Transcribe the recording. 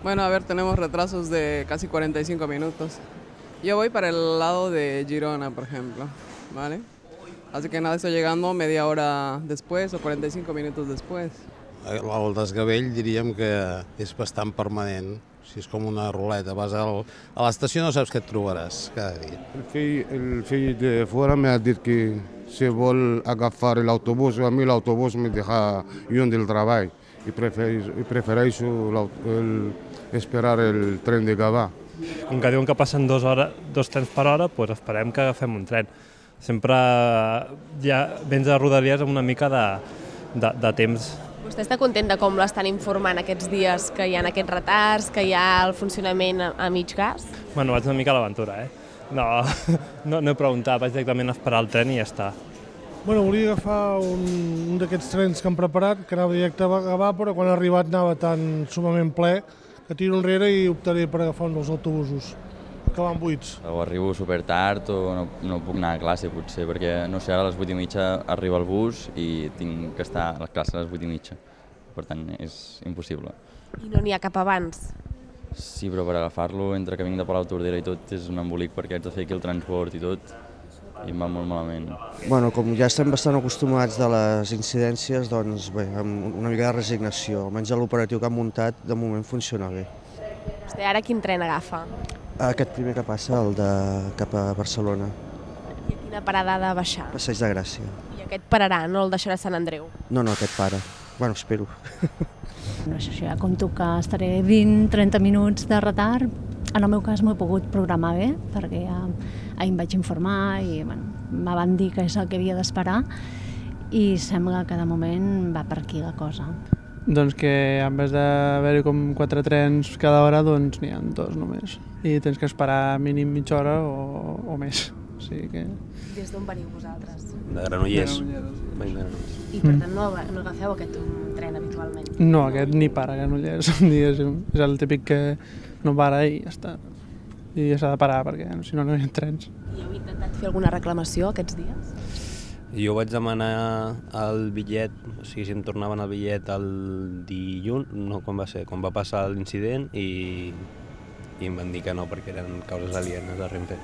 Bueno, a ver, tenemos retrasos de casi 45 minutos. Yo voy para el lado de Girona, por ejemplo, ¿vale? Así que nada, estoy llegando media hora después o 45 minutos después. El desgavell diríem que és bastant permanent. Si és com una ruleta, vas a l'estació no saps què et trobaràs cada dia. El fill de fora m'ha dit que si vol agafar l'autobús, a mi l'autobús me deja lluny del treball i prefereixo esperar el tren de Gavà. Com que diuen que passen 2 trens per hora, doncs esperem que agafem un tren. Sempre ja vens a Rodalies amb una mica de temps. Vostè està content de com l'estan informant aquests dies, que hi ha aquests retards, que hi ha el funcionament a mig gas? Bueno, vaig una mica a l'aventura, No he preguntat, vaig directament a esperar el tren i ja està. Bueno, volia agafar un d'aquests trens que han preparat, que anava directe a Gavà, però quan ha arribat anava tan sumament ple que tiro enrere i optaré per agafar un dels autobusos, que van buits. O arribo super tard o no puc anar a classe, potser, perquè, no sé, ara a les 8:30 arriba el bus i tinc que estar a la classe a les 8:30. Per tant, és impossible. I no n'hi ha cap abans? Sí, però per agafar-lo, entre que vinc de Palautordera i tot, és un embolic perquè haig de fer aquí el transport i tot, i em va molt malament. Bueno, com ja estem bastant acostumats de les incidències, doncs bé, amb una mica de resignació. Almenys l'operatiu que han muntat, de moment funciona bé. Vostè ara quin tren agafa? Aquest primer que passa, el de cap a Barcelona. I a quina parada ha de baixar? Passeig de Gràcia. I aquest pararà, no el deixarà a Sant Andreu? No, aquest para. Bueno, espero. No sé, ja compto que estaré 20-30 minuts de retard. En el meu cas m'ho he pogut programar bé, perquè ja ahir em vaig informar i me van dir que és el que havia d'esperar i sembla que de moment va per aquí la cosa. Doncs que en vez d'haver-hi com 4 trens cada hora, doncs n'hi ha 2 només. I tens que esperar mínim mitja hora o més. O sigui que... Des d'on veniu vosaltres? De Granollers. I per tant no agafeu aquest tren habitualment? No, aquest ni para a Granollers, diguéssim. És el típic que no para i ja està. I s'ha de parar perquè si no, no hi ha trens. I heu intentat fer alguna reclamació aquests dies? Jo vaig demanar el bitllet, o sigui, si em tornaven el bitllet el dilluns, no, quan va ser? Quan va passar l'incident i em van dir que no perquè eren causes alienes de Renfe.